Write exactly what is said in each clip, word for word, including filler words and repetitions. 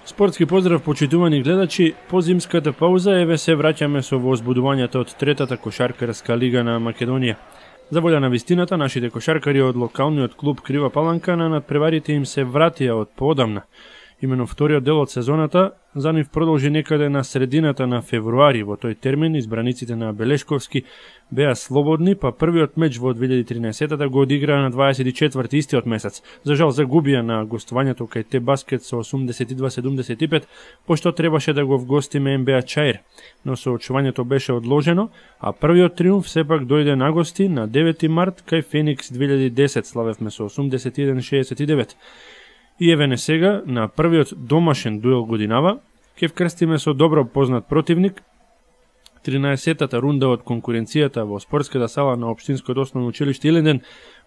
Спортски поздрав, почитувани гледачи, по зимската пауза еве се враќаме со возбудувањето од третата кошаркарска лига на Македонија. За волја на вистината, нашите кошаркари од локалниот клуб Крива Паланка на надпреварите им се вратија од поодамна. Имено вториот дел од сезоната за нив продолжи некаде на средината на февруари. Во тој термин избраниците на Белешковски беа слободни, па првиот меч во две илјади и тринаесетта го одиграа на дваесет и четврти истиот месец. За жал загубија на гостувањето кај Те Баскет со осумдесет и два седумдесет и пет, пошто требаше да го вгостиме Ен Бе А Чаир, но соочувањето беше одложено, а првиот триумф сепак дојде на гости на девети март кај Феникс две илјади и десет, славевме со осумдесет и еден шеесет и девет. И еве не сега, на првиот домашен дуел годинава, ќе вкрстиме со добро познат противник. тринаесеттата рунда од конкуренцијата во спортската сала на Општинското основно училиште Илинден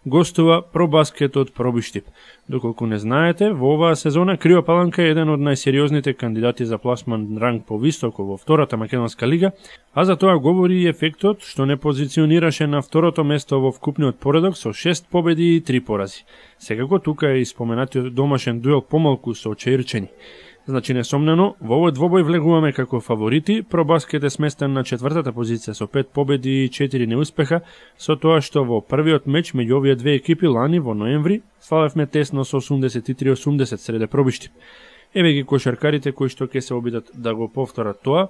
гостува Пробаскет од Пробиштип. Доколку не знаете, во оваа сезона Крива Паланка е еден од најсериозните кандидати за пласман ранг повисоко во втората македонска лига, а за тоа говори и ефектот што не позиционираше на второто место во вкупниот поредок со шест победи и три порази. Секако тука е и споменатиот домашен дуел помалку со Чаирчени. Значи, несомнено, во овој двобој влегуваме како фаворити. Пробаскет е сместен на четвртата позиција со пет победи и четири неуспеха, со тоа што во првиот меч меѓу овие две екипи лани во ноември славевме тесно со осумдесет и три осумдесет среде Пробиштип. Еве ги кошаркарите кои што ќе се обидат да го повторат тоа.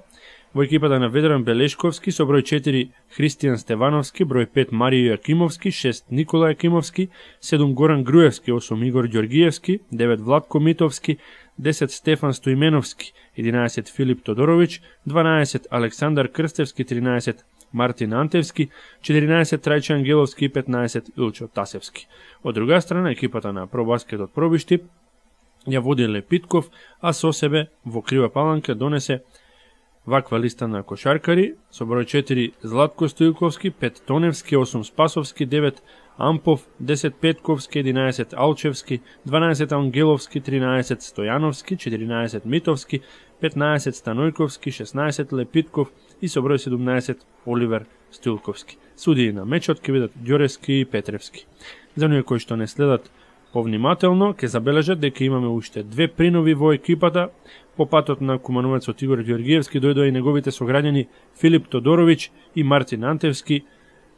Во екипата на Ведран Белешковски со број четири Христијан Стевановски, број пет Маријо Јакимовски, шест Никола Јакимовски, седум Горан Груевски, осум Игор Ѓоргиевски, девет Владко Митовски, десет Стефан Стоименовски, единаесет Филип Тодоровиќ, дванаесет Александар Крстевски, тринаесет Мартин Антевски, четиринаесет Трајче Ангеловски и петнаесет Илчо Тасевски. Од друга страна, екипата на Пробаскет од Пробиштип ја води Лепитков, а со себе во Крива Паланка донесе ваква листа на кошаркари со број четири Златко Стојковски, пет Тоневски, осум Спасовски, девет Ампов, десет Петковски, единаесет Алчевски, дванаесет Ангеловски, тринаесет Стојановски, четиринаесет Митовски, петнаесет Станојковски, шеснаесет Лепитков и со број седумнаесет Оливер Стилковски. Судии на мечот ќе бидат Ѓорески и Петревски. За оние кои што не следат повнимателно, ќе забележат дека имаме уште две принови во екипата. По патот на кумановецот Игор Ѓоргиевски дојдоа и неговите сограѓани Филип Тодоровиќ и Мартин Антевски.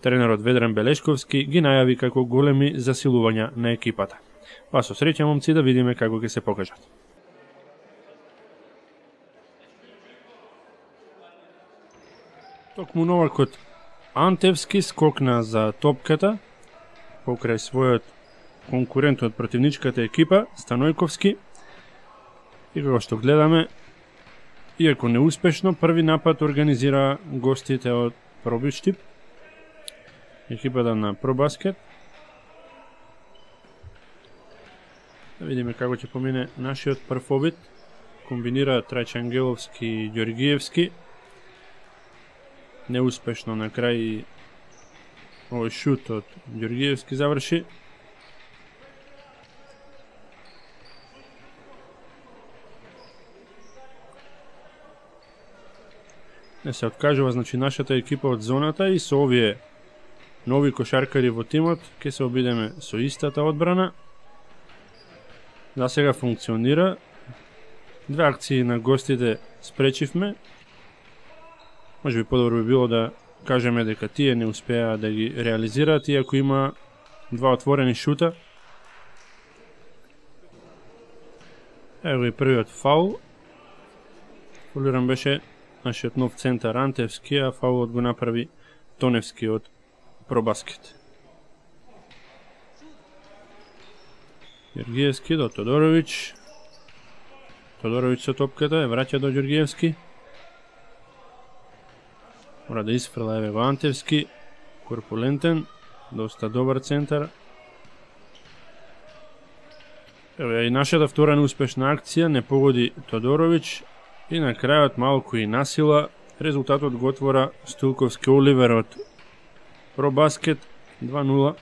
Тренерот Ведран Белешковски ги најави како големи засилувања на екипата. Па со среќа, момци, да видиме како ќе се покажат. Токму новакот Антевски скокна за топката покрај својот конкурент од противничката екипа Станојковски. И како што гледаме, иако неуспешно, први напад организира гостите од Пробиштип, екипата на Пробаскет. Да видиме како ќе помине нашиот прв обид. Комбинира Трајче Ангеловски и Ѓоргиевски. Неуспешно на крај овој шут од Ѓоргиевски заврши. Не се откажува, значи, нашата екипа од зоната и со овие нови кошаркари во тимот ќе се обидеме со истата одбрана. За сега функционира. Две акции на гостите спречивме. Може би подобро би било да кажеме дека тие не успеа да ги реализираат, иако има два отворени шута. Ево и првиот фаул. Фаулиран беше нашиот нов центар Антевски, а фаулот го направи Тоневски од Пробаскет. Ѓоргиевски до Тодоровиќ. Тодоровиќ со топката, ја враќа до Ѓоргиевски. Мора да исфрла, еве го Антевски. Корпулентен, доста добар центар. Еве и нашата втора неуспешна акција, не погоди Тодоровиќ. И на крајот малку и насила, резултатот го отвора Стилковски Оливер од Пробаскет два нула.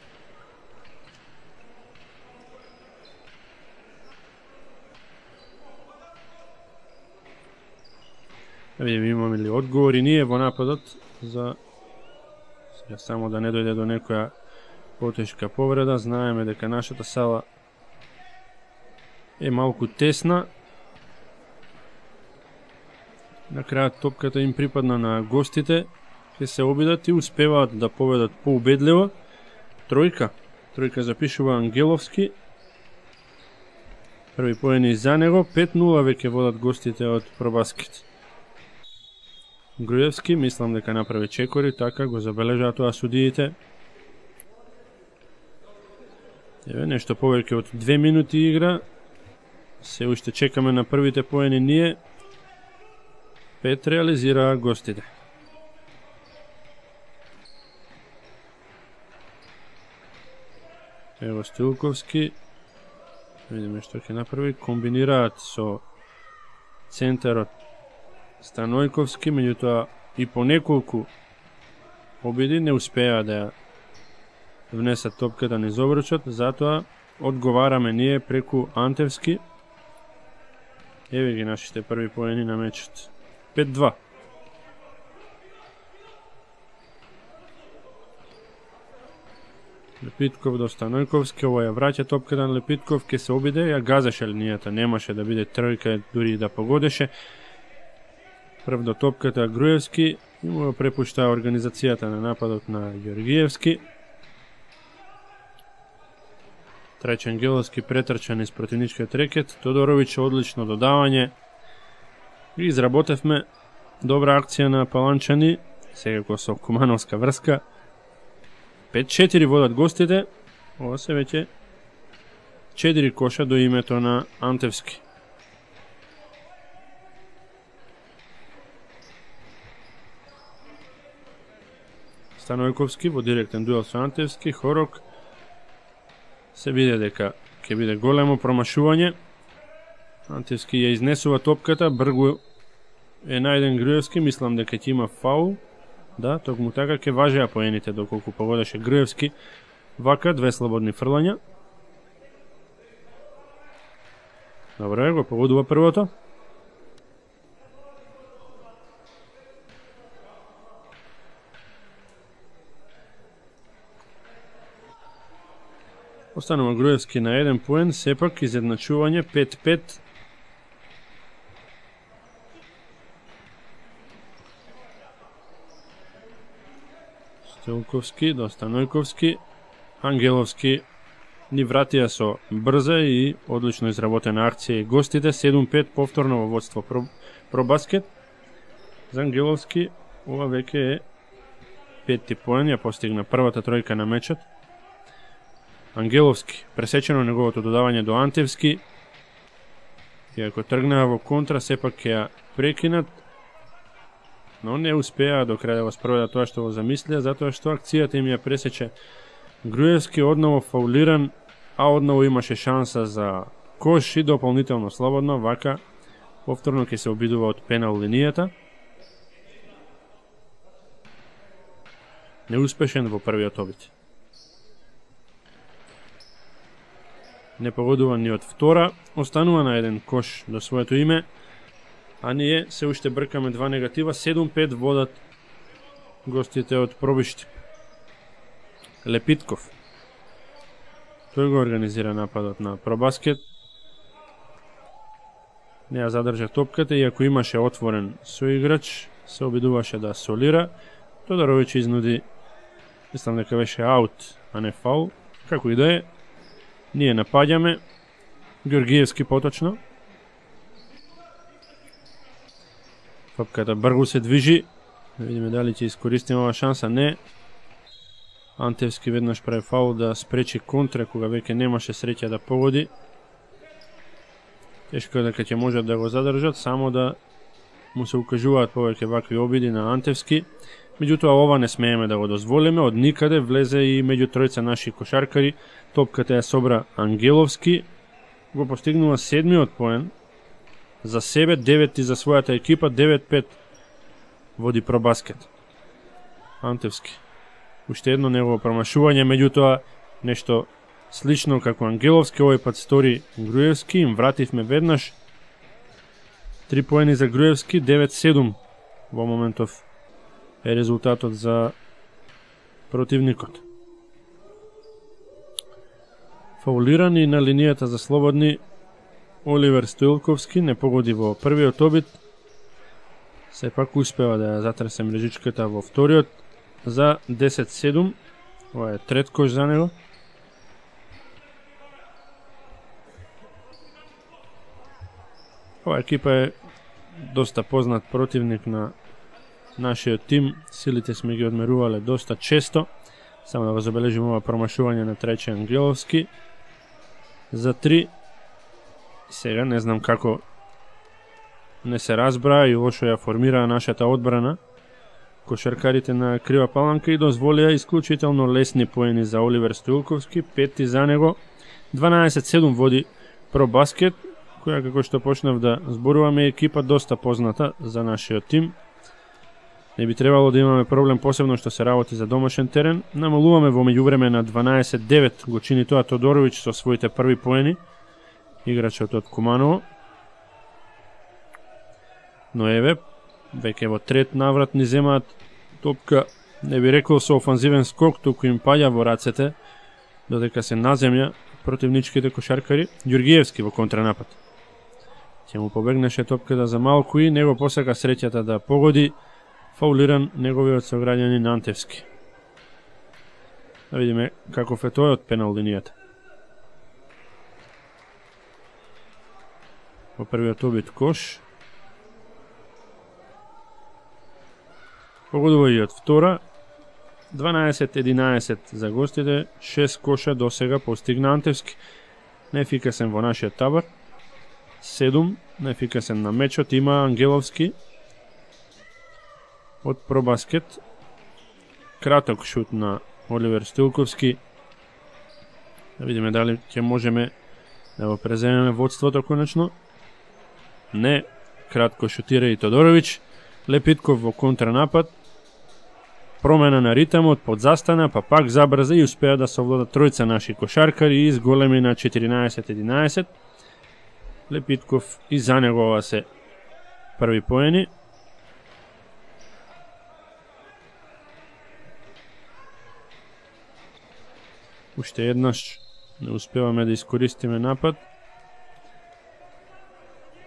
Видим имаме ли одговори ние во нападот за сега само да не дојде до некоја потешка повреда. Знаеме дека нашата сала е малку тесна. На крајот топката им припадна на гостите, ќе се обидат и успеваат да победат поубедливо. Тројка. Тројка запишува Ангеловски. Први поени за него, пет нула веќе водат гостите од Пробаскет. Груевски, мислам дека направи чекори, така го забележаа тоа судиите. Еве, нешто повеќе од две минути игра. Се уште чекаме на првите поени ние. Пет реализираа гостите. Ево Стилковски. Видиме што ќе направи. Комбинираат со центарот Станојковски, меѓутоа и по неколку обиди не успеа да внесат топката низ обручот, затоа одговараме ние преку Антевски. Еве ги нашите први поени на мечот. пет два. Лепитков до Станојковски, ова ја враќа топката на Лепитков, ке се обиде, ја газеше линијата, немаше да биде тројка, дури да погодеше. Прв до топката Груевски и му препушта организацијата на нападот на Ѓоргиевски. Трајче Ангеловски претрчан из противничкиот рекет, Тодоровиќ одлично додавање. И изработевме добра акција на Паланчани, секако со кумановска врска. пет четири водат гостите, ова се веќе четири коша до името на Антевски. Станојковски во директен дуел со Антевски, Хорок се виде дека ќе биде големо промашување. Антевски ја изнесува топката, бргу е најден Груевски, мислам дека ќе има фаул. Да, токму така ќе важеа поените доколку погодеше Груевски. Вака, две слободни фрлања. Добре, го погодува првото. Останува Груевски на еден поен, сепак изедначување пет пет. Стилковски до Станојковски. Ангеловски ни вратија со брза и одлично изработена акција и гостите. седум пет повторно во водство про, Пробаскет. За Ангеловски ова веќе е петти поен, ја постигна првата тројка на мечот. Ангеловски, пресечено неговото додавање до Антевски. Иако тргнаа во контра, сепак ќе ја прекинат, но не успеа до крај да го спроведат тоа што го замислија, затоа што акцијата им ја пресече Груевски, одново фаулиран, а одново имаше шанса за кош и дополнително слободно. Вака повторно ќе се обидува од пенал линијата. Неуспешен во првиот обид. Не погодува ни од втора, останува на еден кош до своето име, а ние се уште бркаме два негатива, седум пет водат гостите од Пробишти. Лепитков. Тој го организира нападот на Пробаскет. Не ја задржа топката, иако имаше отворен соиграч, се обидуваше да солира. Тодоровиќ изнуди, мислам дека беше аут, а не фаул. Како и да е, ние напаѓаме. Ѓоргиевски поточно. Топката бргу се движи. Да видиме дали ќе искористиме ова шанса. Не. Антевски веднаш прави фаул да спречи контра, кога веќе немаше среќа да погоди. Тешко дека ќе можат да го задржат, само да му се укажуваат повеќе вакви обиди на Антевски. Меѓутоа ова не смееме да го дозволиме, од никаде влезе и меѓу тројца наши кошаркари. Топката ја собра Ангеловски, го постигнува седмиот поен за себе, деветти за својата екипа, девет пет води Пробаскет. Антевски. Уште едно негово промашување, меѓутоа нешто слично како Ангеловски, овој пат стори Груевски, им вративме веднаш. Три поени за Груевски, девет седум во моментов е резултатот за противникот. Фаулирани на линијата за слободни Оливер Стоилковски не погоди во првиот обид. Сепак успева да ја затресе мрежичката во вториот за десет седум. Ова е трет кош за него. Ова екипа е доста познат противник на нашиот тим. Силите сме ги одмерувале доста често. Само да го забележим ова промашување на Трајче Ангеловски за три. Сега не знам како не се разбра и лошо ја формира нашата одбрана. Кошаркарите на Крива Паланка и дозволија исклучително лесни поени за Оливер Стоилковски, пети за него. дванаесет седум води Пробаскет, која како што почнав да зборуваме екипа доста позната за нашиот тим. Не би требало да имаме проблем, посебно што се работи за домашен терен. Намалуваме во меѓувреме на дванаесет девет, го чини тоа Тодоровиќ со своите први поени, играчот од Куманово. Но еве, веќе во трет наврат ни земаат топка, не би рекол со офанзивен скок, туку им паѓа во рацете, додека се на земја противничките кошаркари. Ѓургиевски во контранапад. Ќе му побегнеше топката за малку и него посака среќата да погоди, фаулиран неговиот сограѓанин Антевски. Да видиме каков е тој од пенал линијата. Во првиот обид кош. Погодува и од втора. дванаесет единаесет за гостите, шест коша до сега постигна Антевски. Неефикасен во нашиот табор. седум, неефикасен на мечот има Ангеловски од Пробаскет. Краток шут на Оливер Стоилковски. Да видиме дали ќе можеме да го преземеме водството конечно. Не, кратко шутира и Тодоровиќ. Лепитков во контранапад. Промена на ритамот, подзастана, па пак забрза и успеа да совлада тројца наши кошаркари и изголеми на четиринаесет единаесет. Лепитков и за него ова се први поени. Уште еднаш не успеваме да искористиме напад.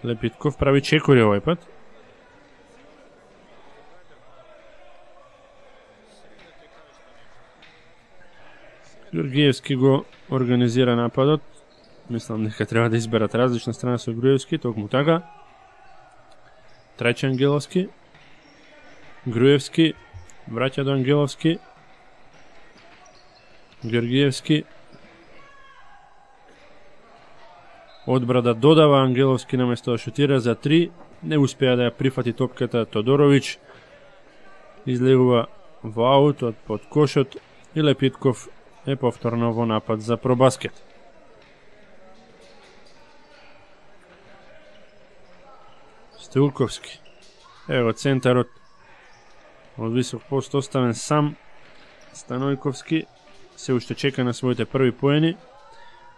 Лепитков прави чекори овој пат. Ѓургиевски го организира нападот. Мислам дека треба да изберат различна страна со Груевски, токму така. Трајче Ангеловски. Груевски враќа до Ангеловски. Ѓургиевски. Одбра да додава Ангеловски наместо да шутира за три. Не успеа да ја прифати топката Тодоровиќ. Излегува во аут од под кошот и Лепитков е повторно во напад за Пробаскет. Стоилковски. Ево центарот од висок пост оставен сам. Станојковски се уште чека на своите први поени.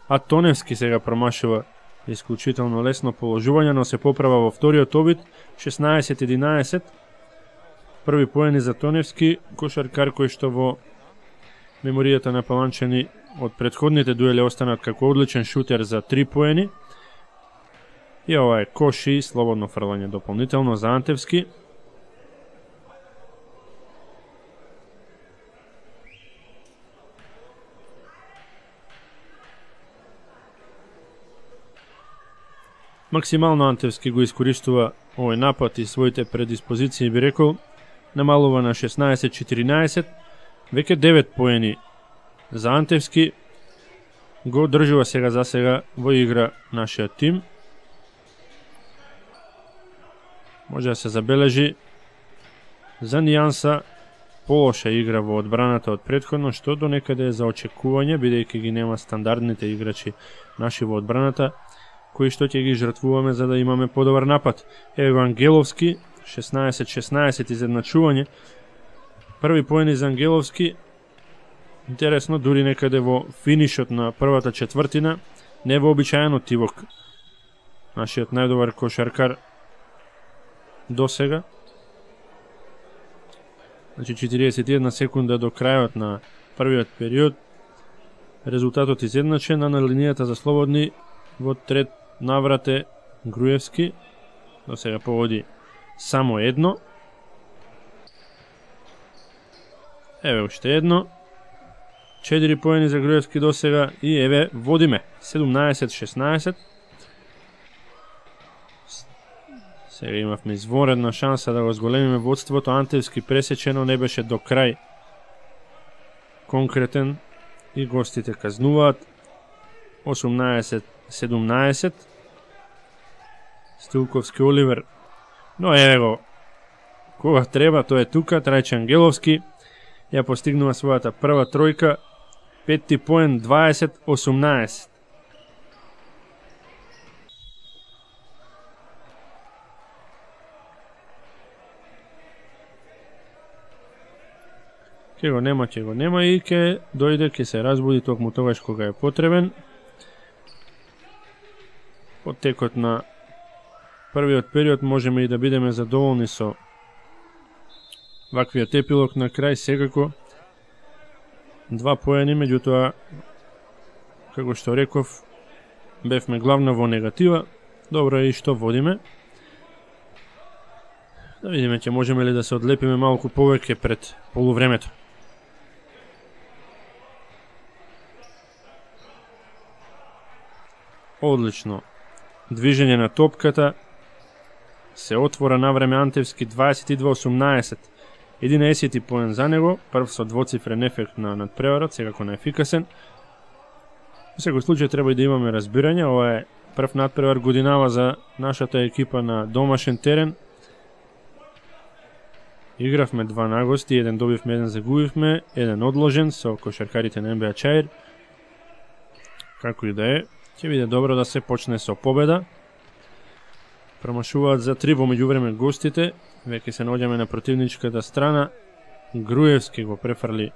А Тоневски сега промашува исклучително лесно положување, но се поправа во вториот обид. шеснаесет единаесет. Први поени за Тоневски, кошаркар кој што во меморијата на Паланчани од претходните дуели останат како одличен шутер за три поени. И ова е кош и слободно фрлање дополнително за Антевски. Максимално Антевски го искористува овој напад и своите предиспозиции, би рекол, намалува на шеснаесет четиринаесет. Веќе девет поени за Антевски. Го држува сега за сега во игра нашиот тим. Може да се забележи за нијанса полоша игра во одбраната од претходно, што до некаде е за очекување, бидејќи ги нема стандардните играчи наши во одбраната, кои што ќе ги жртвуваме за да имаме подобар напад. Ево Ангеловски, шеснаесет шеснаесет изедначување. Први поени за Ангеловски. Интересно, дури некаде во финишот на првата четвртина, невообичаено тивок. Нашиот најдобар кошаркар до сега. Значи четириесет и една секунда до крајот на првиот период. Резултатот изедначен, а на линијата за слободни во трет наврат е Груевски. До сега поводи само едно. Еве уште едно. четири поени за Груевски до сега и еве водиме седумнаесет шеснаесет. Сега имавме изворедна шанса да го зголемиме водството. Антевски пресечено, не беше до крај конкретен и гостите казнуваат. осумнаесет седумнаесет. Стилковски Оливер. Но еве го, кога треба, тој е тука. Трајче Ангеловски ја постигнува својата прва тројка. Петти поен дваесет осумнаесет. Ке го нема, ке го нема и ке дојде, ке се разбуди токму тогаш кога е потребен. По текот на првиот период можеме и да бидеме задоволни со ваквиот епилог на крај. Секако два поени, меѓутоа, како што реков, бевме главна во негатива. Добро е и што водиме. Да видиме ќе можеме ли да се одлепиме малку повеќе пред полувремето. Одлично движење на топката. Се отвора на време Антевски дваесет и две осумнаесет. единаесети поен за него, прв со двоцифрен ефект на надпреварот, секако наефикасен. Во секој случај треба и да имаме разбирање, ова е прв надпревар годинава за нашата екипа на домашен терен. Игравме два нагости, еден добивме, еден загубивме, еден одложен со кошаркарите на Ен Би А Чаир. Како и да е, ќе биде добро да се почне со победа. Промашуваат за три во меѓувреме гостите. Веќе се наоѓаме на противничката страна. Груевски го префрли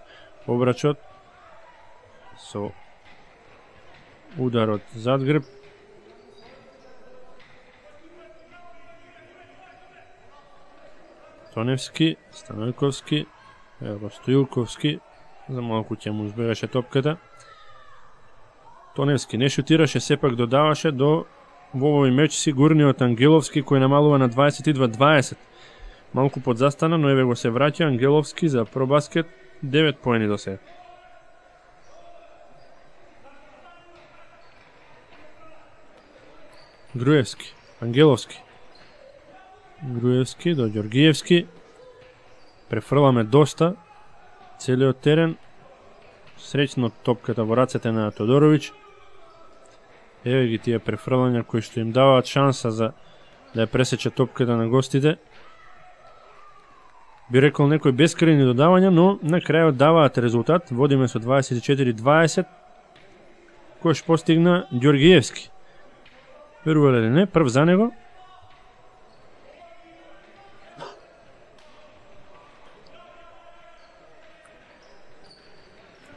обрачот со ударот зад грб. Тоневски, Станојковски, ево Стоилковски, за малку ќе му избегаше топката. Тоневски не шутираше, сепак додаваше до во овој меч сигурниот Ангеловски кој намалува на дваесет и две дваесет. Малку подзастана, но еве го се враќа Ангеловски за пробаскет, девет поени до сега. Груевски, Ангеловски. Груевски до Ѓоргиевски. Префрламе доста целиот терен. Среќно топката во рацете на Тодоровиќ. Еве ги тие префрлања кои што им даваат шанса за да ја пресече топката на гостите. Би рекол некои бескрајни додавања, но на крајот даваат резултат. Водиме со дваесет и четири дваесет. Кој постигна Ѓоргиевски. Верувале ли не, прв за него.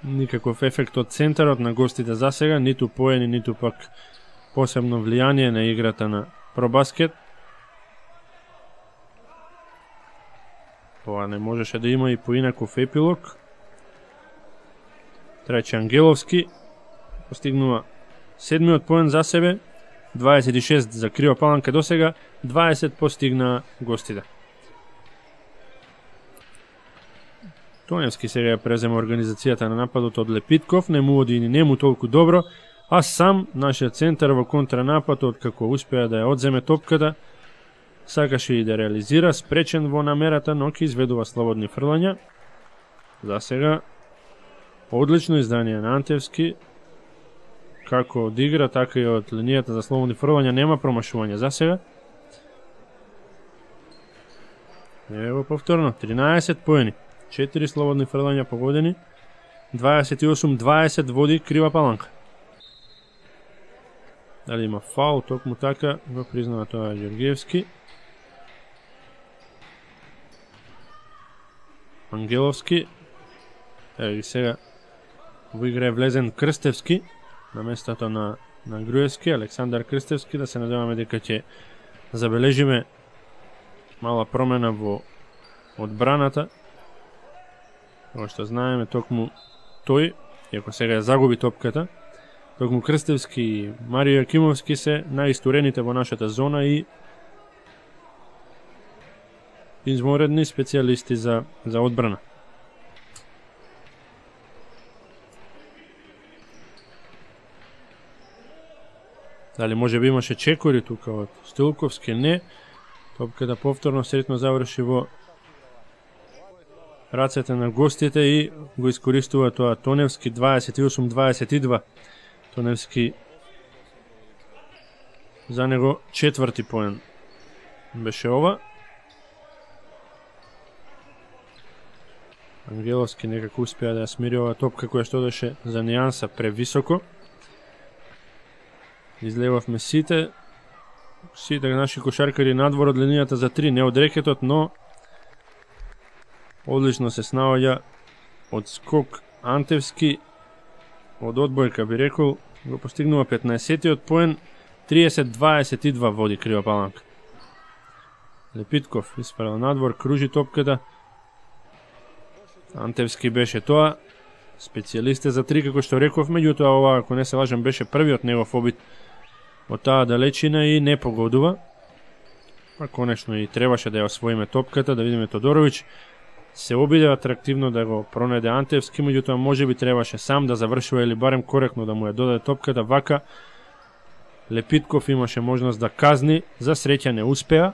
Никаков ефект од центарот на гостите за сега, ниту поени, ниту пак посебно влијание на играта на пробаскет. Ова не можеше да има и поинаков епилог. Трајче Ангеловски постигнува седмиот поен за себе, дваесет и шест за Крива Паланка до сега, дваесет постигна гостите. Тоневски сега ја презема организацијата на нападот од Лепитков, не му оди и не му толку добро, а сам нашиот центар во контранападот како успеа да ја одземе топката, сакаше и да реализира, спречен во намерата, но ќе изведува слободни фрлања. За сега одлично издание на Антевски, како од игра, така и од линијата за слободни фрлања нема промашување за сега. Ево повторно, тринаесет поени. четири слободни фрлања погодени, дваесет и осум дваесет води Крива Паланка. Дали има фаул, токму така го признава тоа Ѓоргиевски. Ангеловски. Ево ги сега во игра е влезен Крстевски на местото на, на Груевски, Александар Крстевски, да се надеваме дека ќе забележиме мала промена во одбраната. Како што знаеме, токму тој, иако сега ја загуби топката, токму Крстевски и Марио Јакимовски се најистурените во нашата зона и изморедни специјалисти за, за одбрана. Дали може би имаше чекори тука од Стилковски? Не. Топката повторно сретно заврши во рацете на гостите и го искористува тоа Тоневски. Дваесет и осум дваесет и два. Тоневски за него четврти поен беше ова. Ангеловски некако успеа да ја смири ова топка која што одеше за нијанса превисоко. Излевавме сите, сите наши кошаркари надвор од линијата за три, не од рекетот, но одлично се снаоѓа од скок Антевски, од одбојка би рекол, го постигнува петнаесеттиот поен, триесет дваесет и два води Крива Паланка. Лепитков испарал надвор, кружи топката. Антевски беше тоа, специјалист за три, како што реков, меѓутоа ова, ако не се лажам, беше првиот негов обид од таа далечина и не погодува. А конечно и требаше да ја освоиме топката, да видиме Тодоровиќ. Се обиде атрактивно да го пронајде Антевски, меѓутоа може би требаше сам да завршува или барем коректно да му ја додаде топката. Вака Лепитков имаше можност да казни, за среќа не успеа.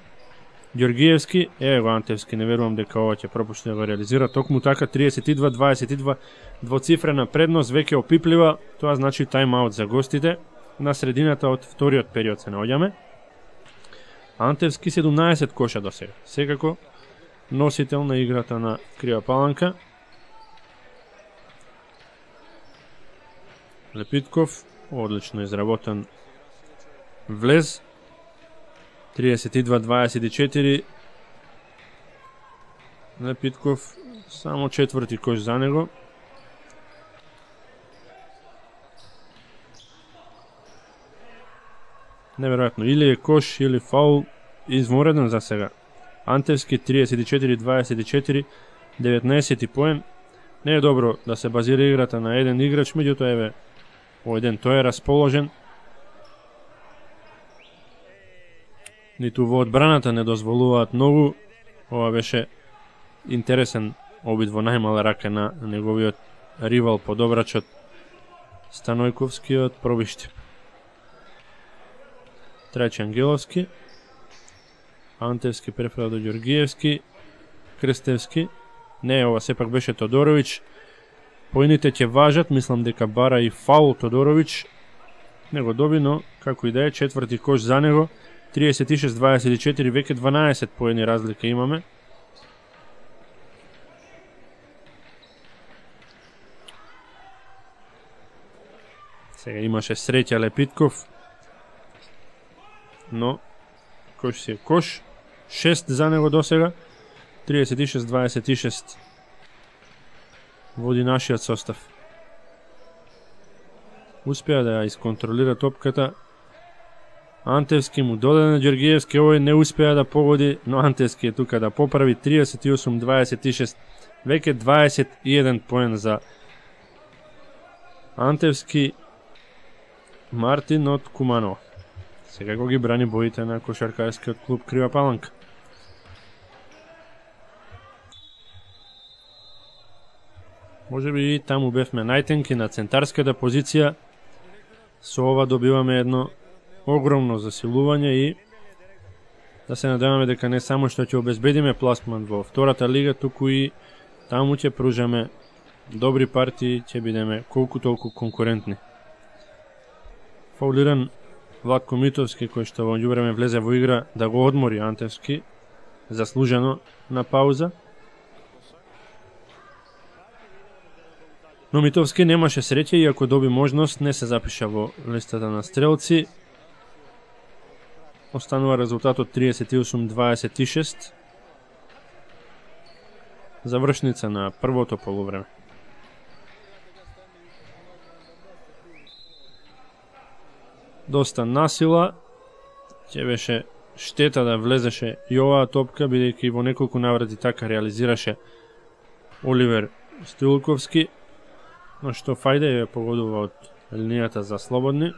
Ѓоргиевски, еве го Антевски, не верувам дека ова ќе пропушти да го реализира. Токму така триесет и два дваесет и два, двоцифрена предност, веќе опиплива. Тоа значи тајм-аут за гостите. На средината од вториот период се наоѓаме. Антевски седумнаесет коша до сега. Секако носител на играта на Крива Паланка. Лепитков, одлично изработен влез. триесет и два дваесет и четири. Лепитков само четврти кош за него. Неверојатно, или е кош, или фаул, измореден за сега. Антевски триесет и четири дваесет и четири, деветнаесети поен. Не е добро да се базира играта на еден играч, меѓутоа еве овој ден тој е расположен. Ниту во одбраната не дозволуваат многу. Ова беше интересен обид во најмала рака на неговиот ривал подобрачот Станојковски од Пробишти. Трајче Ангеловски, Антевски префрал до Ѓоргиевски, Крстевски, не, ова сепак беше Тодоровиќ. Поените ќе важат, мислам дека бара и фаул Тодоровиќ. Не го доби, но како и да е, четврти кош за него, триесет и шест дваесет и четири, веќе дванаесет поени разлика имаме. Сега имаше среќа Лепитков, но кош си е кош. шест за него до сега, триесет и шест дваесет и шест води нашиот состав. Успеа да ја исконтролира топката. Антевски му додаде на Ѓоргиевски, овој не успеа да погоди, но Антевски е тука да поправи. Триесет и осум дваесет и шест, веќе дваесет и еден поен за Антевски. Мартин од Куманово сега го ги брани боите на кошаркарскиот клуб Крива Паланка. Може би и таму бевме најтенки на центарската позиција. Со ова добиваме едно огромно засилување и да се надеваме дека не само што ќе обезбедиме пласман во втората лига, туку и таму ќе пружаме добри партии, ќе бидеме колку толку конкурентни. Фаулиран Владко Митовски, кој што во меѓувреме влезе во игра да го одмори Антевски, заслужено на пауза. Но Митовски немаше среќа и ако доби можност не се запиша во листата на стрелци. Останува резултатот триесет и осум дваесет и шест. Завршница на првото полувреме. Доста насила, ќе беше штета да влезеше и оваа топка, бидејќи во неколку наврати така реализираше Оливер Стилковски, но што фајде ја погодува од линијата за слободни.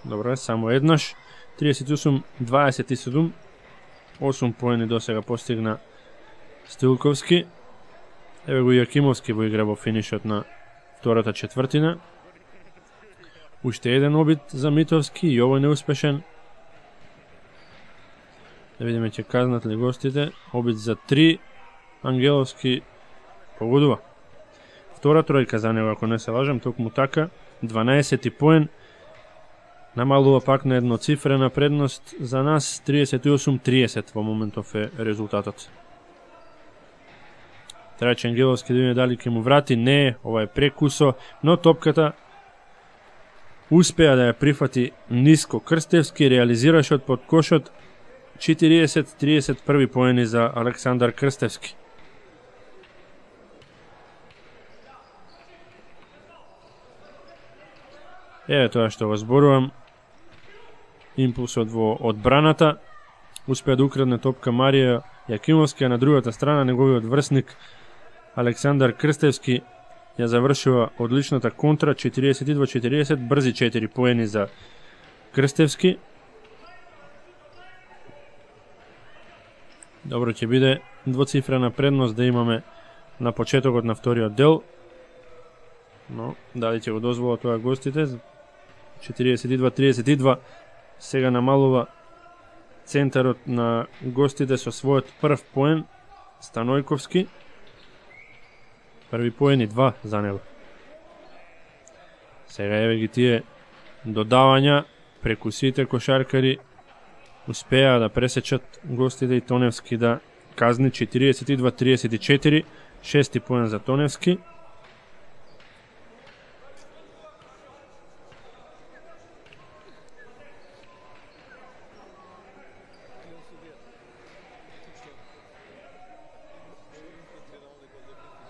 Добро е, само еднаш. триесет и осум дваесет и седум. осум поени до сега постигна Стилковски. Еве го Јакимовски во игра во финишот на втората четвртина. Уште еден обид за Митовски и овој неуспешен. Да видиме ќе казнат ли гостите. Обид за три. Ангеловски погодува. Втора тројка за него, ако не се лажам, токму така. дванаесети поен. Намалува пак на едноцифрена предност за нас. триесет и осум триесет во моментов е резултатот. Трајче Ангеловски да видиме дали ќе му врати. Не, ова е прекусо, но топката успеа да ја прифати ниско. Крстевски реализира шот под кошот. четириесет триесет први поени за Александар Крстевски. Еве тоа што го зборувам. Импулсот во одбраната. Успеа да украдне топка Марија Јакимовски, а на другата страна неговиот врсник Александар Крстевски ја завршува одличната контра. четириесет и два четириесет, брзи четири поени за Крстевски. Добро ќе биде двоцифрена предност да имаме на почетокот на вториот дел. Но дали ќе го дозволат тоа гостите? четириесет и два триесет и два. Сега намалува центарот на гостите со својот прв поен Станојковски. Први поен и два за него. Сега еве ги тие додавања преку сите кошаркари. Успеа да пресечат гостите и Тоневски да казни. четириесет и два триесет и четири. Шести поен за Тоневски.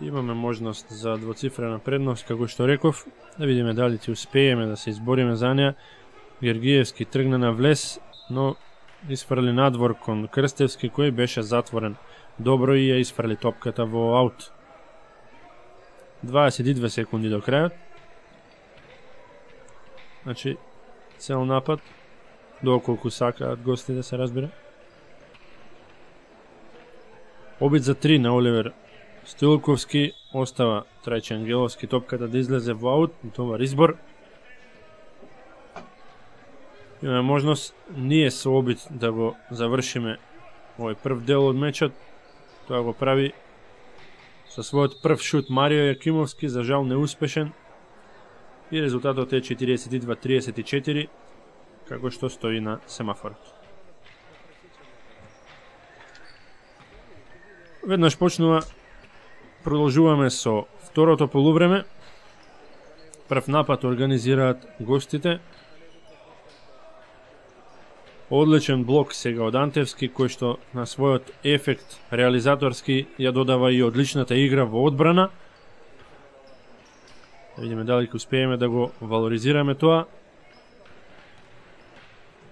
Имаме можност за двоцифрена предност, како што реков. Да видиме дали ќе успееме да се избориме за неа. Гергиевски тргна на влез, но isfrli надвор кон Крстевски, кој беше затворен добро и ја isfrли топката во аут. дваесет и две секунди до крајот. Значи, цел напад, доколку сакаат гости да се разбира. Обид за три на Оливер Стилковски, остава Трајче Ангеловски топката да излезе во аут, товар избор. Имаме можност ние со обид да го завршиме овој прв дел од мечот. Тоа го прави со својот прв шут Марио Јакимовски, за жал неуспешен. И резултатот е четириесет и два триесет и четири, како што стои на семафорот. Веднаш почнува, продолжуваме со второто полувреме. Прв напад организираат гостите. Одличен блок сега од Антевски, кој што на својот ефект реализаторски ја додава и одличната игра во одбрана. Да видиме дали ќе успееме да го валоризираме тоа.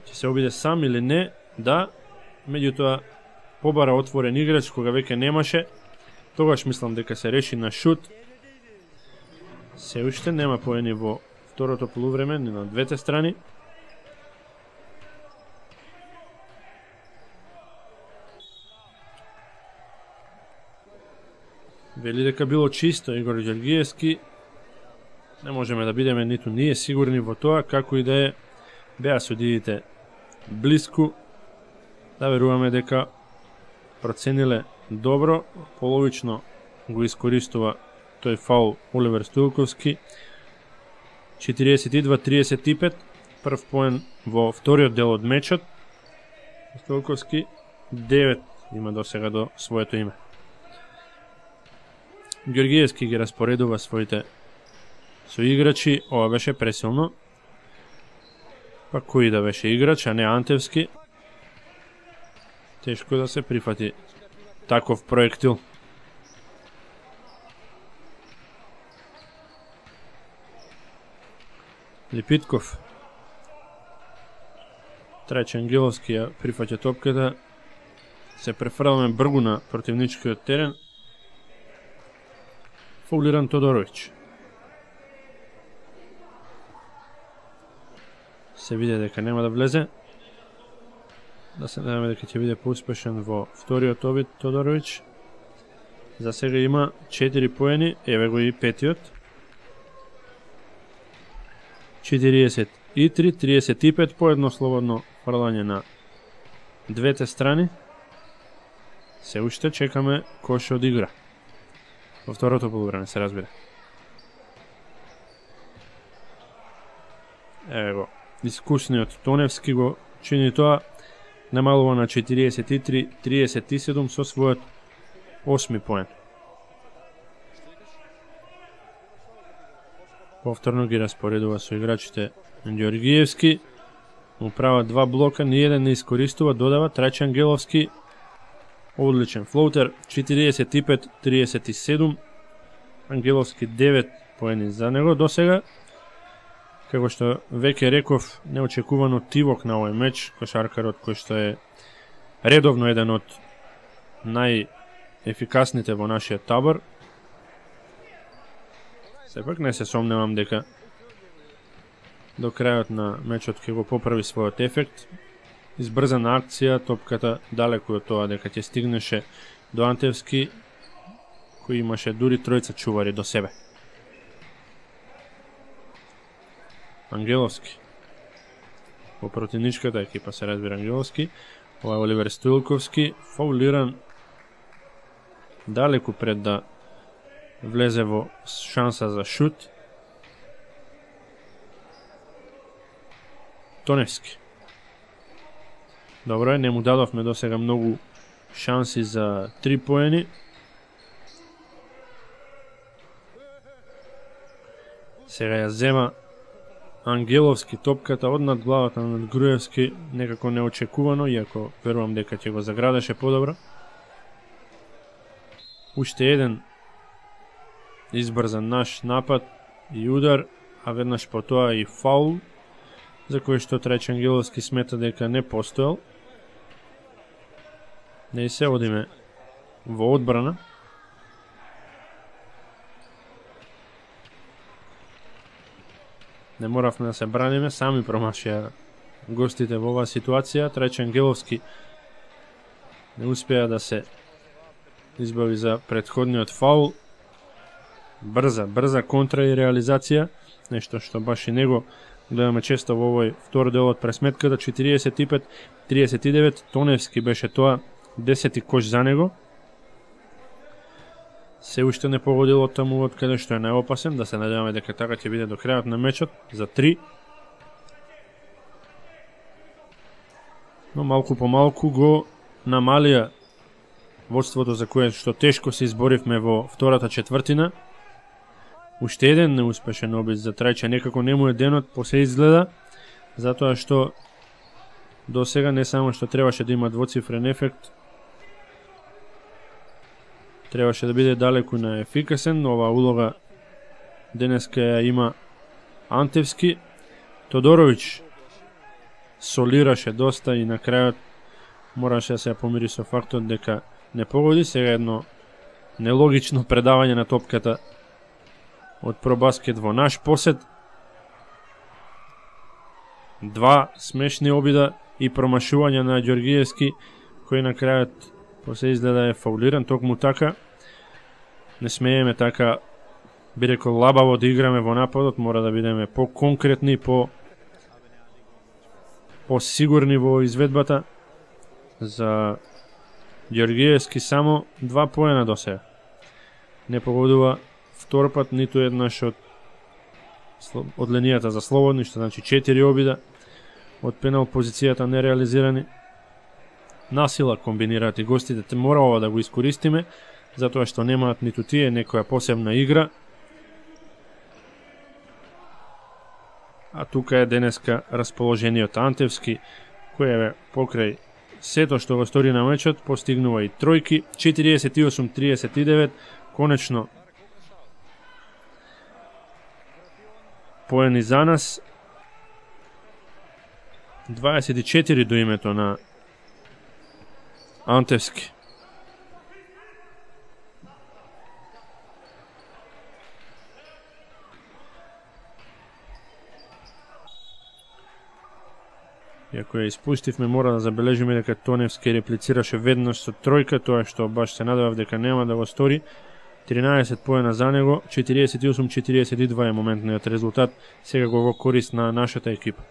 Ќе се обиде сам или не? Да. Меѓутоа побара отворен играч кога веќе немаше. Тогаш мислам дека се реши на шут. Се уште нема поени во второто полувреме ни на двете страни. Вели дека било чисто Игор Ѓоргиевски. Не можеме да бидеме ниту ние сигурни во тоа, како и да е. Беа судиите блиску. Да веруваме дека процениле добро, половично го искористува тој фаул Оливер Стилковски. четириесет и два триесет и пет, прв поен во вториот дел од мечот. Стилковски девет има до сега до своето име. Ѓоргиевски ги распоредува своите соиграчи, ова беше пресилно. Па кој да беше играч, а не Антевски. Тешко да се прифати таков проектил. Липитков. Трајче Ангеловски ја прифаќа топката. Се префрламе бргу на противничкиот терен. Фаулиран Тодоровиќ. Се види дека нема да влезе. Да се надеваме дека ќе биде поуспешен во вториот обид Тодоровиќ. За сега има четири поени, еве го и петиот. четириесет и три, триесет и пет, по едно слободно фрлање на двете страни. Се уште чекаме кој ќе одигра во второто полувреме, се разбира. Еве го, искусниот Тоневски го чини тоа, намалува на четириесет и три, триесет и седум со својот осми поен. Повторно ги распоредува со играчите Ѓоргиевски, му прават два блока, ниеден не искористува, додава Трајче Ангеловски, одличен флоутер, четириесет и пет, триесет и седум, Ангеловски девет поени за него до сега. Како што веќе реков, неочекувано тивок на овој меч, кошаркарот кој што е редовно еден од најефикасните во нашиот табор. Сепак не се сомневам дека до крајот на мечот ќе го поправи својот ефект. Избрзана акција, топката далеку од тоа дека ќе стигнеше до Антевски, кој имаше дури тројца чувари до себе. Ангеловски. Во противничката екипа се разбира Ангеловски. Ова е Оливер Стоилковски, фаулиран далеку пред да влезе во шанса за шут. Тоневски. Добро е, не му дадовме до сега многу шанси за три поени. Сега ја зема Ангеловски топката од над главата на Груевски, некако неочекувано, иако верувам дека ќе го заградеше подобро. Уште еден избрзан наш напад и удар, а веднаш по тоа и фаул, за кој што Трајче Ангеловски смета дека не постоел. Не се одиме во одбрана. Не моравме да се браниме, сами промашија гостите во оваа ситуација. Трајче Ангеловски не успеа да се избави за претходниот фаул. Брза, брза контра и реализација, нешто што баш и него гледаме често во овој втор дел од пресметката. четириесет и пет, триесет и девет, Тоневски беше тоа, десети кош за него. Се уште не погодил од таму од каде што е најопасен, да се надеваме дека така ќе биде до крајот на мечот, за три. Но малку по малку го намалија водството за кое што тешко се изборивме во втората четвртина. Уште еден неуспешен обид за Трајче, некако не му е денот, посе изгледа, затоа што до сега не само што требаше да има двоцифрен ефект, требаше да биде далеку на ефикасен. Ова улога денеска ја има Антевски. Тодоровиќ солираше доста и на крајот мораше да се помири со фактот дека не погоди. Сега едно нелогично предавање на топката од Пробаскет во наш посет. Два смешни обида и промашување на Ѓоргиевски, кој на крајот после изгледа е фаулиран. Токму така не смееме така, би рекол, лабаво да играме во нападот, мора да бидеме по-конкретни, по по-сигурни во изведбата. За Ѓоргиевски само два поена до сега. Не погодува втор пат ниту еднаш од од линијата за слободни, што значи четири обида од пенал позицијата нереализирани. Насила комбинираат и гостите, те мора ова да го искористиме, затоа што немаат ниту тие некоја посебна игра. А тука е денеска расположениот Антевски, кој е покрај сето што го стори на мечот, постигнува и тројки. четириесет и осум, триесет и девет, конечно поени за нас. дваесет и четири до името на Антевски. Иако ја испустивме, мора да забележиме дека Тоневски реплицираше веднаш со тројка, тоа што баш се надевав дека нема да го стори. тринаесет поена за него, четириесет и осум четириесет и два е моментниот резултат, сега го во корист на нашата екипа.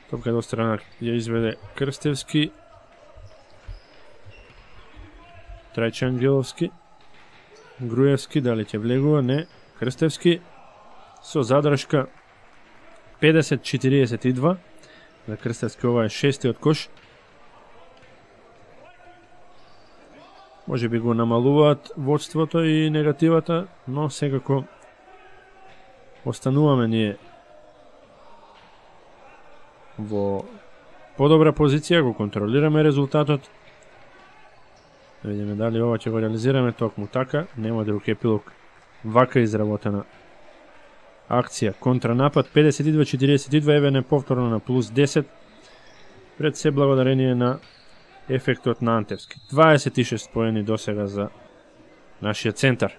Топка до страна ја изведе Крстевски, Трајче Ангеловски, Груевски, дали ќе влегува? Не. Крстевски со задршка педесет четириесет и два. За Крстевски ова е шестиот кош. Може би го намалуваат водството и негативата, но секако остануваме ние во подобра позиција, го контролираме резултатот. Да видиме дали ова ќе го реализираме токму така, нема друг епилог. Вака изработена акција, контранапад, педесет и два четириесет и два, еве не повторно на плюс десет, пред се благодарение на ефектот на Антевски. дваесет и шест поени досега за нашиот центар.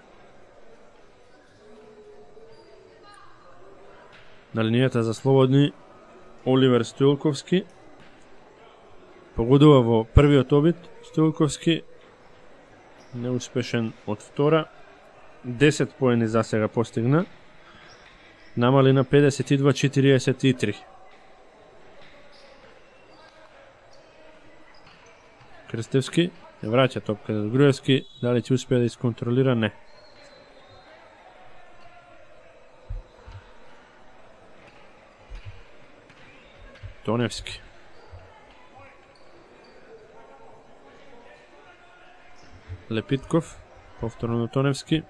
На линијата за слободни Оливер Стоилковски погодува во првиот обид. Стоилковски неуспешен од втора, десет поени за сега постигна, намали на педесет и два четириесет и три. Крстевски ја враќа топка за Груевски, дали ќе успее да исконтролира? Не. Тоневски. Лепитков, повторно на Тоневски.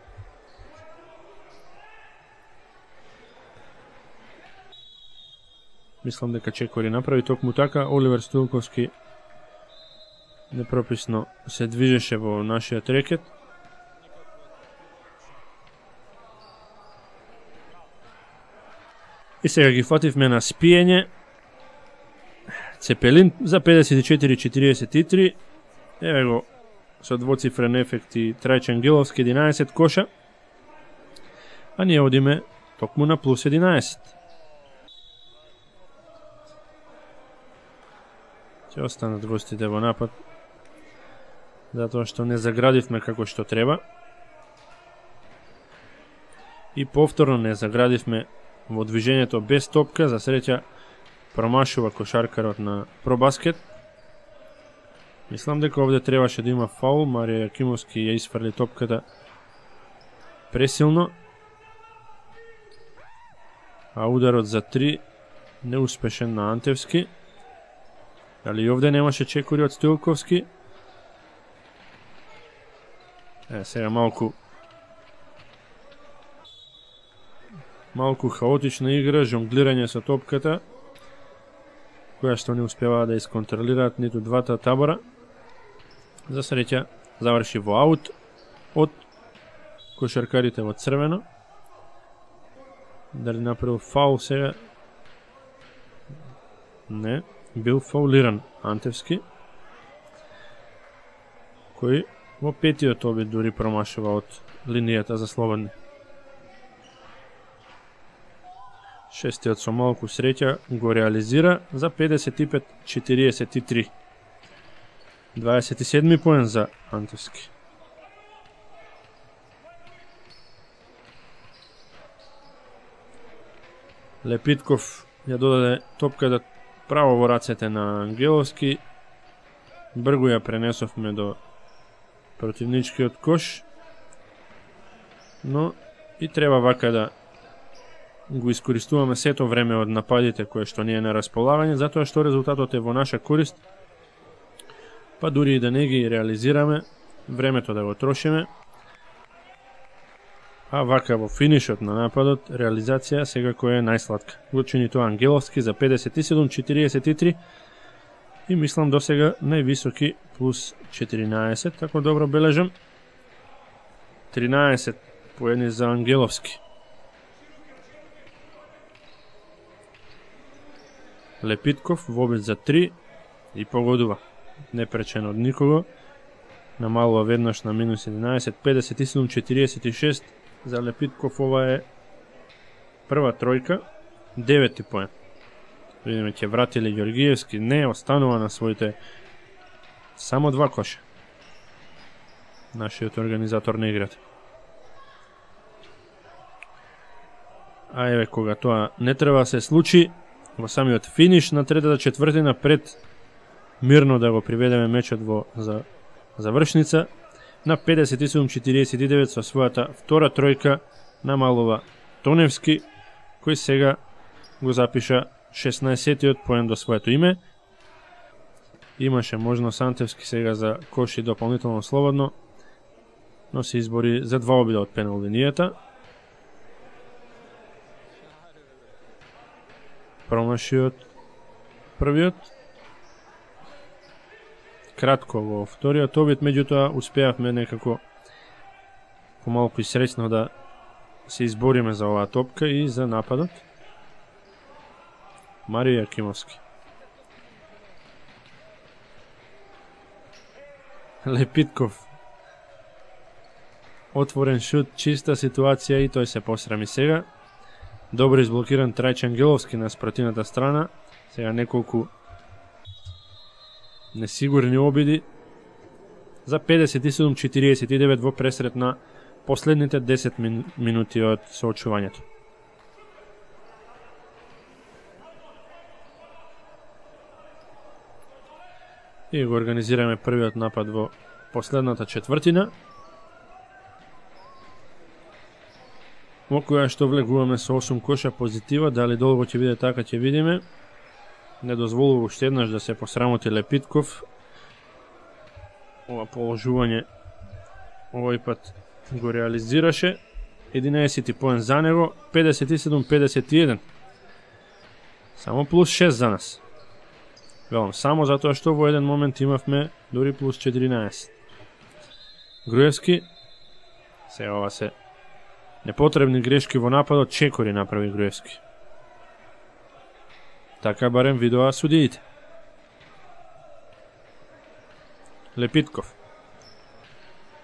Мислам дека Чекори направи токму така. Оливер Стоилковски непрописно се движеше во нашиот рекет. И сега ги фативме на спиење. Цепелин за педесет и четири четириесет и три. Еве го со двоцифрен ефект и Трајче Ангеловски, единаесет коша. А ние одиме токму на плюс единаесет. Ќе останат гостите во напад, затоа што не заградивме како што треба. И повторно не заградивме во движењето без топка. За среќа промашува кошаркарот на Пробаскет. Мислам дека овде требаше да има фаул. Марија Јакимовски ја исфрли топката пресилно. А ударот за три неуспешен на Антевски. Дали овде немаше чекори од Стоилковски? Е, сега малку малку хаотична игра, жонглирање со топката, која што не успеваа да исконтролираат ниту двата табора. За среќа заврши во аут од кошаркарите во црвено. Дали направил фаул сега? Не. Бил фаулиран Антевски, кој во петиот обид дури промашува од линијата за слободни. Шестиот со малку среќа го реализира за педесет и пет четириесет и три. дваесет и седми поен за Антевски. Лепитков ја додаде топката право во рацете на Ангеловски. Бргу ја пренесовме до противничкиот кош, но и треба вака да го искористуваме сето време од нападите кое што ни е на располагање, затоа што резултатот е во наша корист, па дури и да не ги реализираме, времето да го трошиме, а вака во финишот на нападот, реализација секако е најсладка. Го чини тоа Ангеловски за педесет и седум четириесет и три и мислам досега највисоки плюс четиринаесет, ако добро бележам. тринаесет поени за Ангеловски. Лепитков во обид за три и погодува. Не пречен од никого. Намалува веднаш на минус единаесет, педесет и седум четириесет и шест. За Лепитков ова е Прва тројка, девети поен. Видиме, ќе врати ли Ѓоргиевски? Не, останува на своите само два коша. Нашиот организатор на играта. А еве, кога тоа не треба се случи, во самиот финиш на третата четвртина, пред мирно да го приведеме мечот во за завршница, на педесет и седум четириесет и девет со својата втора тројка намалува Тоневски, кој сега го запиша шеснаесеттиот поен до своето име. Имаше можност Антевски сега за коши дополнително слободно, но се избори за два обида од пенал линијата. Промашиот првиот. Кратко во вториот обид, меѓутоа успеавме некако помалку и среќно да се избориме за оваа топка и за нападот. Марио Јакимовски. Лепитков. Отворен шут, чиста ситуација и тој се посрами сега. Добро изблокиран Трајче Ангеловски на спротивната страна. Сега неколку несигурни обиди за педесет и седум четириесет и девет во пресрет на последните десет минути од соочувањето. И го организираме првиот напад во последната четвртина, во која што влегуваме со осум коша позитива. Дали долго ќе биде така, ќе видиме. Не дозволува уште еднаш да се посрамоти Лепитков. Ова положување овој пат го реализираше. единаесети поен за него, педесет и седум педесет и еден. Само плюс шест за нас. Велам, само затоа што во еден момент имавме дури плюс четиринаесет. Груевски, се ова се непотребни грешки во нападот, чекори направи Груевски. Така барем видоа судиите. Лепитков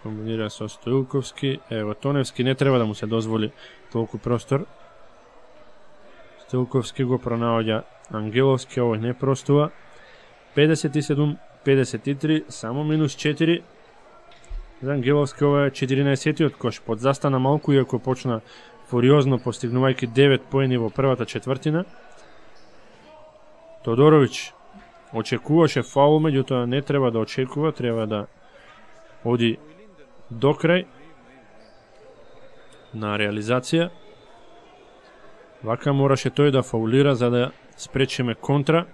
комбинира со Стоилковски. Ево, Тоневски не треба да му се дозволи толку простор. Стоилковски го пронаоѓа Ангеловски, овој не простува. педесет и седум педесет и три, само минус четири. За Ангеловски ова е четиринаесеттиот кош. Подзастана малку, иако почна фуриозно, постигнувајќи девет поени во првата четвртина. Тодоровиќ очекуваше фаул, меѓутоа не треба да очекува, треба да оди до крај на реализација. Вака мораше тој да фаулира за да спречиме контра.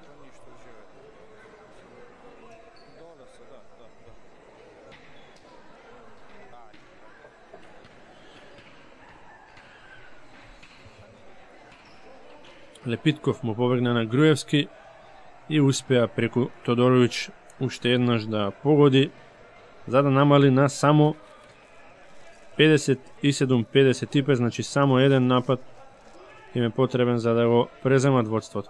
Лепитков му побегна на Груевски и успеа преку Тодоровиќ уште еднаш да погоди, за да намали на само педесет и седум педесет и пет, значи само еден напад им е потребен за да го преземат водството.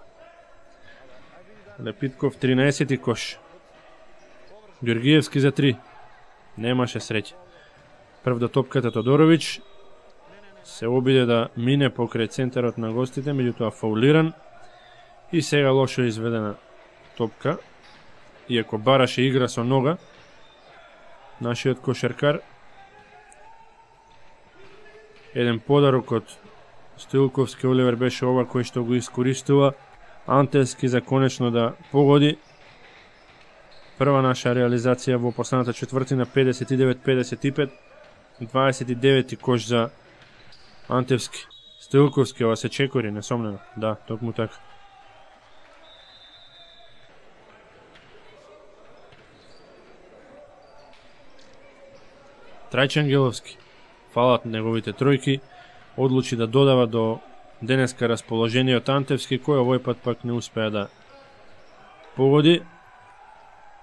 Лепитков тринаесети кош. Ѓоргиевски за три. Немаше среќа. Прв до топката Тодоровиќ се обиде да мине покрај центарот на гостите, меѓутоа фаулиран и сега лошо изведена топка. Иако бараше игра со нога, нашиот кошаркар. Еден подарок од Стоилковски Оливер беше ова кој што го искористува Антевски за конечно да погоди. Прва наша реализација во последната четвртина, педесет и девет педесет и пет, дваесет и девети кош за Антевски. Стоилковски, ова се чекори, несомнено. Да, токму така. Трајче Ангеловски, фалат неговите тројки, одлучи да додава до денеска расположениот Антевски, кој овој пат пак не успеа да погоди.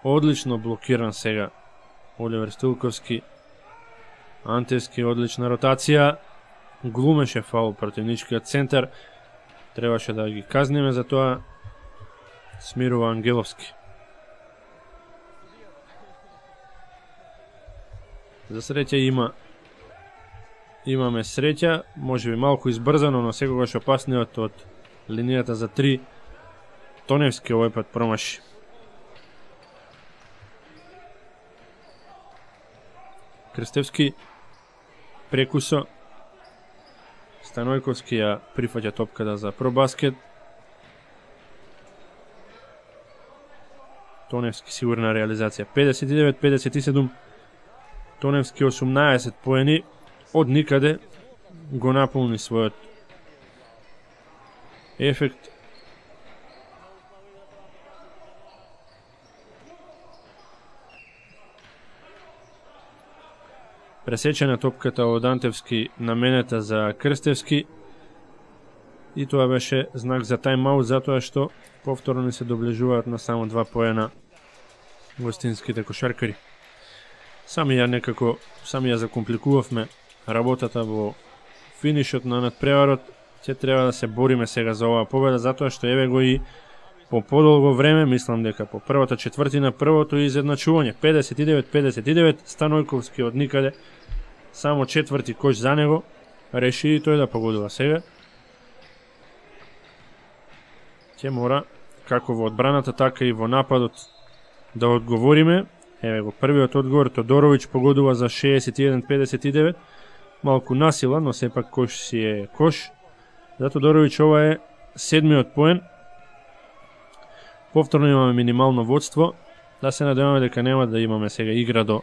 Одлично блокиран сега Оливер Стоилковски. Антевски, одлична ротација. Глумеше фаул противничкиот центар. Требаше да ги казниме за тоа. Смирува Ангеловски. За среќа има имаме среќа, може би малку избрзано, но секогаш опасниот од линијата за три. Тоневски овој пат промаши. Крстевски прекусо. Станојковски ја прифаќа топката за пробаскет. Тоневски сигурна реализација. педесет и девет педесет и седум. Тоневски осумнаесет поени. Од никаде го наполни својот ефект. Пресечена топката од Антевски наменета за Крстевски. И тоа беше знак за тајм-аут, затоа што повторно ни се доближуваат на само два поена гостинските кошаркари. Сами ја некако, сами ја закомпликувавме работата во финишот на надпреварот. Ќе треба да се бориме сега за оваа победа, затоа што еве го и по подолго време, мислам дека по првата четвртина, првото изедначување, педесет и девет педесет и девет, Станојковски од никаде, само четврти кош за него, реши и тој да погодува сега. Ќе мора, како во одбраната, така и во нападот, да одговориме. Еве го првиот одговор, Тодоровиќ погодува за шеесет и еден педесет и девет, малку насила, но сепак кош си е кош. За Тодоровиќ ова е седмиот поен. Повторно имаме минимално водство. Да се надеваме дека нема да имаме сега игра до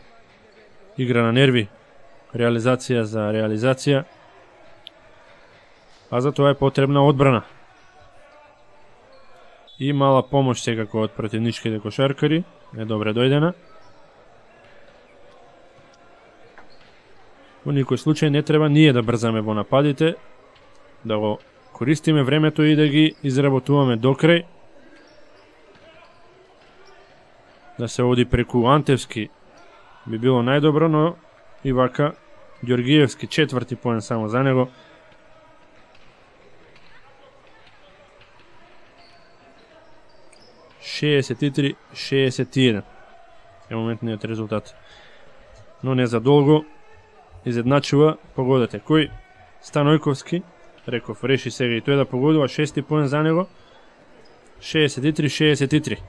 игра на нерви, реализација за реализација. А за тоа е потребна одбрана. И мала помош секако од противничките кошаркари, е добре дојдена. Во никој случај не треба ние да брзаме во нападите, да го користиме времето и да ги изработуваме до крај. Да се оди преку Антевски би било најдобро, но и вака Ѓоргиевски четврти поен само за него. шеесет и три шеесет и еден е моментниот резултат. Но не за долго изедначува, погодете кој? Станојковски, реков, реши сега и тој да погодува, шести поен за него. шеесет и три шеесет и три.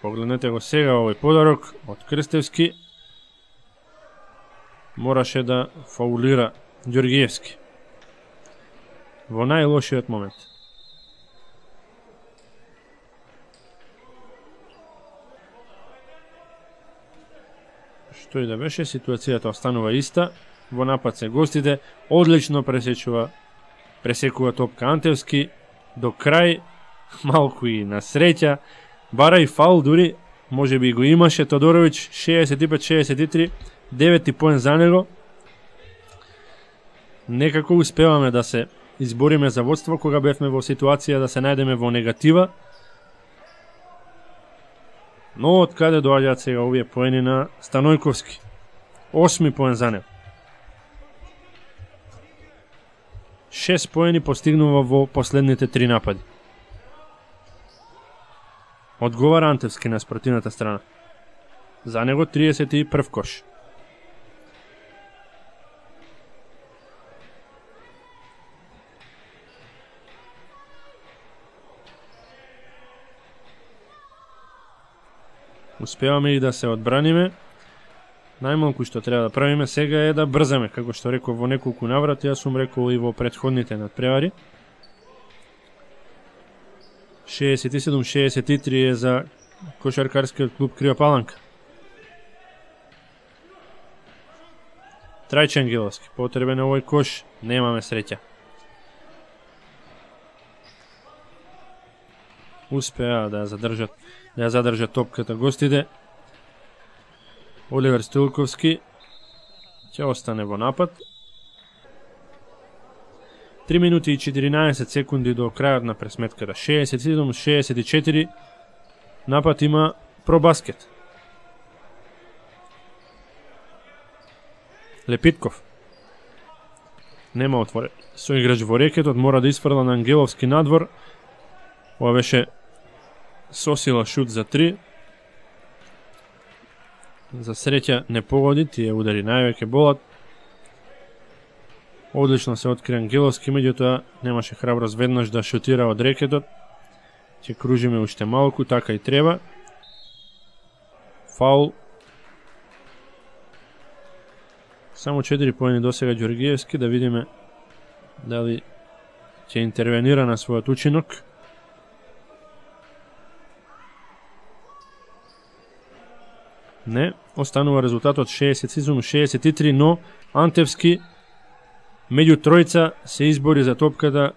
Погледнете го сега овој подарок од Крстевски. Мораше да фаулира Ѓоргиевски во најлошиот момент. Што и да беше, ситуацијата останува иста. Во напад се гостите, одлично пресечува, пресекува топка Антевски, до крај, малку и на среќа, бара и фаул дури, може би го имаше Тодоровиќ, шеесет и пет шеесет и три, деветти поен за него. Некако успеваме да се избориме за водство, кога бевме во ситуација да се најдеме во негатива. Но од каде доаѓаат сега овие поени на Станојковски? Осми поен за него. Шест поени постигнува во последните три напади. Одговара Антевски на спротивната страна. За него триесет и прв кош. Успеваме и да се одбраниме. Најмалку што треба да правиме сега е да брзаме, како што реков во неколку наврати, јас сум рекол и во претходните надпревари. шеесет и седум шеесет и три е за кошаркарскиот клуб Крива Паланка. Трајче Ангеловски, потребен е овој кош, немаме среќа. Успеа да ја задржат, да ја задржат топката гостите. Оливер Стилковски ќе остане во напад. три минути и четиринаесет секунди до крајот на пресметката. шеесет и седум шеесет и четири. Напад има пробаскет. Лепитков. Нема отворен соиграч во рекетот, мора да isfrла на Ангеловски надвор. Ова беше сосила шут за три. За среќа не погоди, тие удари највеќе болат. Одлично се откри Ангеловски, меѓутоа немаше храброст веднаш да шутира од рекетот. Ќе кружиме уште малку, така и треба. Фаул. Само четири поени досега Ѓоргиевски, да видиме дали ќе интервенира на својот учинок. Не, останува резултатот шеесет шеесет и три, но Антевски меѓу тројца се избори за топката,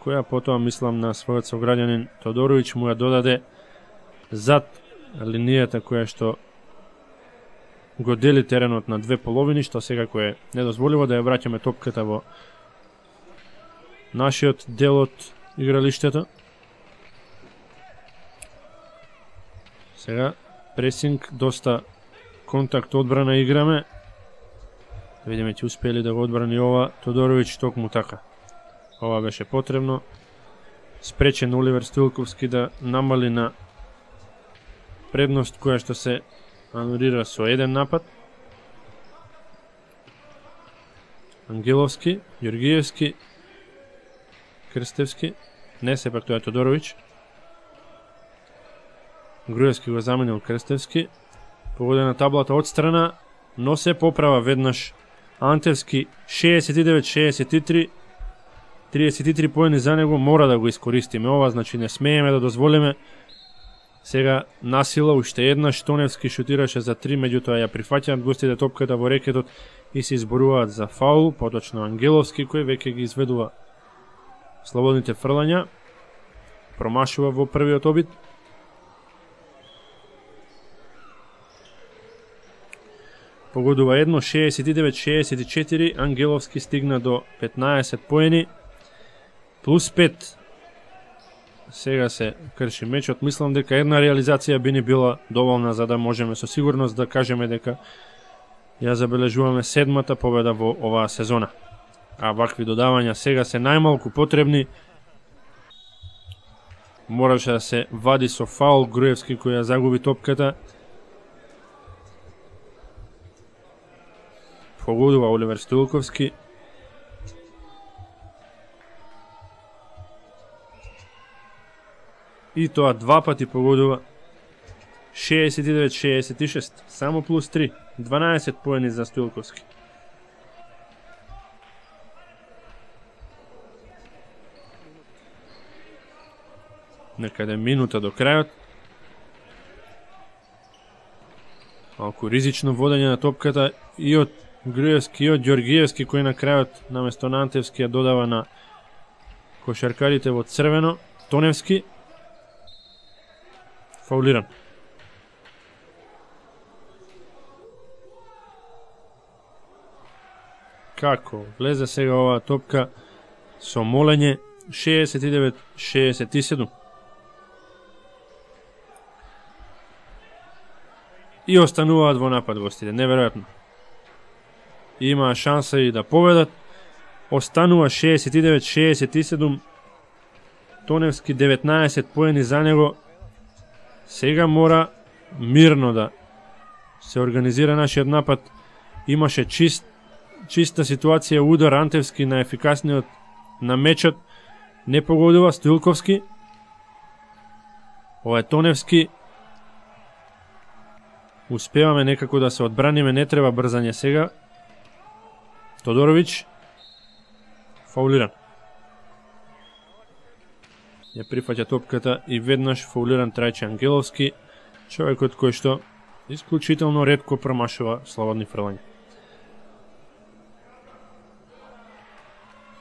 која потоа, мислам, на својот сограѓанин Тодороvić му ја додаде зад линијата која што го дели теренот на две половини, што секако е недозволиво да ја враќаме топката во нашиот дел од игралиштето. Сега пресинг, доста контакт одбрана играме. Да видиме ќе успели да го одбрани ова Тодороvić, токму така. Ова беше потребно. Спречен Оливер Стоилковски да намали на предност која што се анулира со еден напад. Ангеловски, Ѓоргиевски, Крстевски, не сепак тоа е Тодороvić. Груевски го заменил Крстевски. Погодена таблата од страна, но се поправа веднаш Антевски. шеесет и девет шеесет и три, триесет и три поени за него, мора да го искористиме ова, значи не смееме да дозволиме. Сега насила уште еднаш, Тоневски шутираше за три, меѓутоа ја прифаќаат гостите топката во рекетот и се изборуваат за фаул, поточно Ангеловски кој веќе ги изведува слободните фрлања, промашува во првиот обид. Погодува едно, шеесет и девет шеесет и четири, Ангеловски стигна до петнаесет поени, плюс пет. Сега се крши мечот, мислам дека една реализација би ни била доволна за да можеме со сигурност да кажеме дека ја забележуваме седмата победа во оваа сезона. А вакви додавања сега се најмалку потребни. Мораше да се вади со фаул Груевски кој ја загуби топката. Погодува Оливер Стоилковски. И тоа два пати погодува. шеесет и девет шеесет и шест, само плюс три, дванаесет поени за Стоилковски. Некаде минута до крајот. Малку ризично водење на топката и од Груевски и од Ѓоргиевски, кој на крајот наместо на Антевски ја додава на кошаркарите во црвено. Тоневски фаулиран. Како влезе сега оваа топка со молење, шеесет и девет шеесет и седум. И остануваат во напад гостите, неверојатно. Има шанса и да победат. Останува шеесет и девет шеесет и седум. Тоневски деветнаесет поени за него. Сега мора мирно да се организира нашиот напад. Имаше чист, чиста ситуација, удар Антевски на ефикасниот на мечот. Не погодува Стоилковски. Ова е Тоневски. Успеваме некако да се одбраниме, не треба брзање сега. Тодороvić фаулиран. Ја прифаќа топката и веднаш фаулиран Трајче Ангеловски, човекот кој што исклучително ретко промашува слободни фрлања.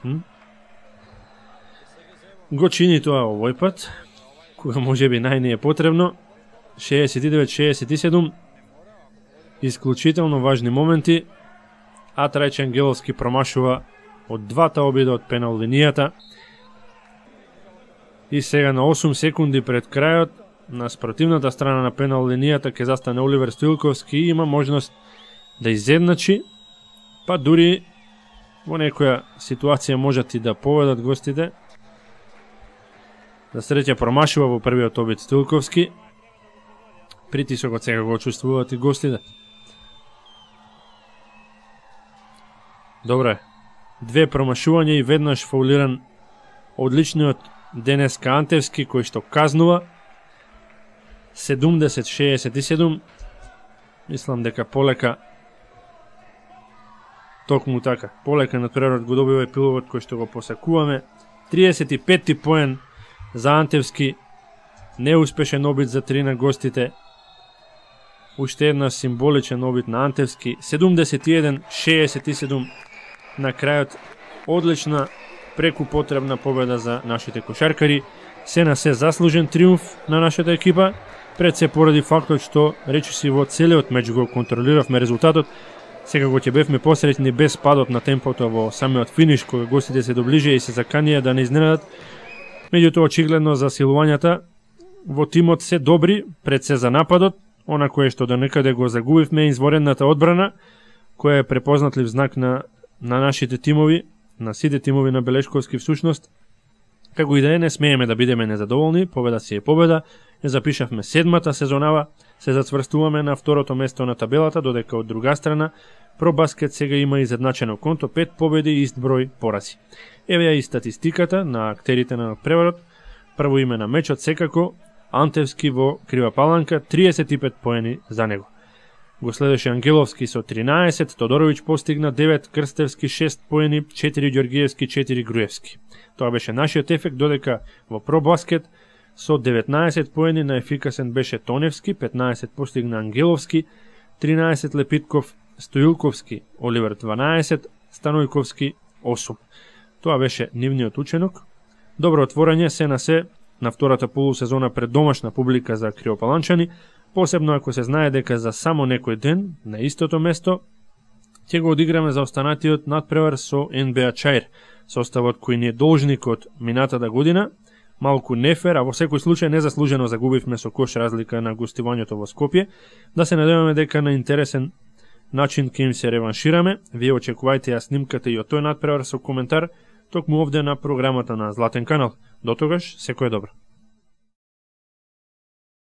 Hm? Го чини тоа овој пат, кога може би најне е потребно. шеесет и девет шеесет и седум. Исклучително важни моменти, а Трајче Ангеловски промашува од двата обида од пенал линијата. И сега на осум секунди пред крајот, на спротивната страна на пенал линијата ќе застане Оливер Стоилковски и има можност да изедначи, па дури во некоја ситуација можат и да поведат гостите. За среќа промашува во првиот обид Стоилковски. Притисокот сега го чувствуваат и гостите. Добре. Две промашувања и веднаш фаулиран одличниот денеска Антевски, кој што казнува. седумдесет шеесет и седум. Мислам дека полека токму така. Полека натпреварот го добива епилогот кој што го посакуваме. триесет и петти поен за Антевски. Неуспешен обид за три на гостите. Уште една символичен обид на Антевски. седумдесет и еден шеесет и седум. На крајот одлична преку потребна победа за нашите кошаркари. Се на се заслужен триумф на нашата екипа. Пред се поради фактот што речиси во целиот меч го контролиравме резултатот. Секако ќе бевме посреќни без падот на темпото во самиот финиш, кога гостите се доближија и се заканија да не изненадат. Меѓутоа очигледно засилувањата во тимот се добри, пред се за нападот, она кое што до некаде го загубивме изворенната одбрана, која е препознатлив знак на, на нашите тимови, на сите тимови на Белешковски всушност. Како и да е, не смееме да бидеме незадоволни, победа си е победа, ја запишавме седмата сезонава, се зацврстуваме на второто место на табелата, додека од друга страна Пробаскет сега има изедначено конто пет победи и ист број порази. Еве ја и статистиката на актерите на преварот. Прво име на мечот секако Антевски во Крива Паланка, триесет и пет поени за него. Го следеше Ангеловски со тринаесет, Тодоровиќ постигна девет, Крстевски шест поени, четири Ѓоргиевски, четири Груевски. Тоа беше нашиот ефект, додека во Пробаскет со деветнаесет поени наефикасен беше Тоневски, петнаесет постигна Ангеловски, тринаесет Лепитков, Стоилковски, Оливер дванаесет, Станојковски осум. Тоа беше нивниот ученок. Добро отворање се на се на втората полусезона пред домашна публика за криопаланчани, посебно ако се знае дека за само некој ден на истото место ќе го одиграме за останатиот надпревар со ен би а Чаир, составот кој ни е должник од минатата година. Малку нефер, а во секој случај незаслужено загубивме со кош разлика на гостувањето во Скопје. Да се надеваме дека на интересен начин ќе им се реваншираме. Вие очекувајте ја снимката и од тој надпревар со коментар токму овде на програмата на Златен канал. До тогаш, секој е добро.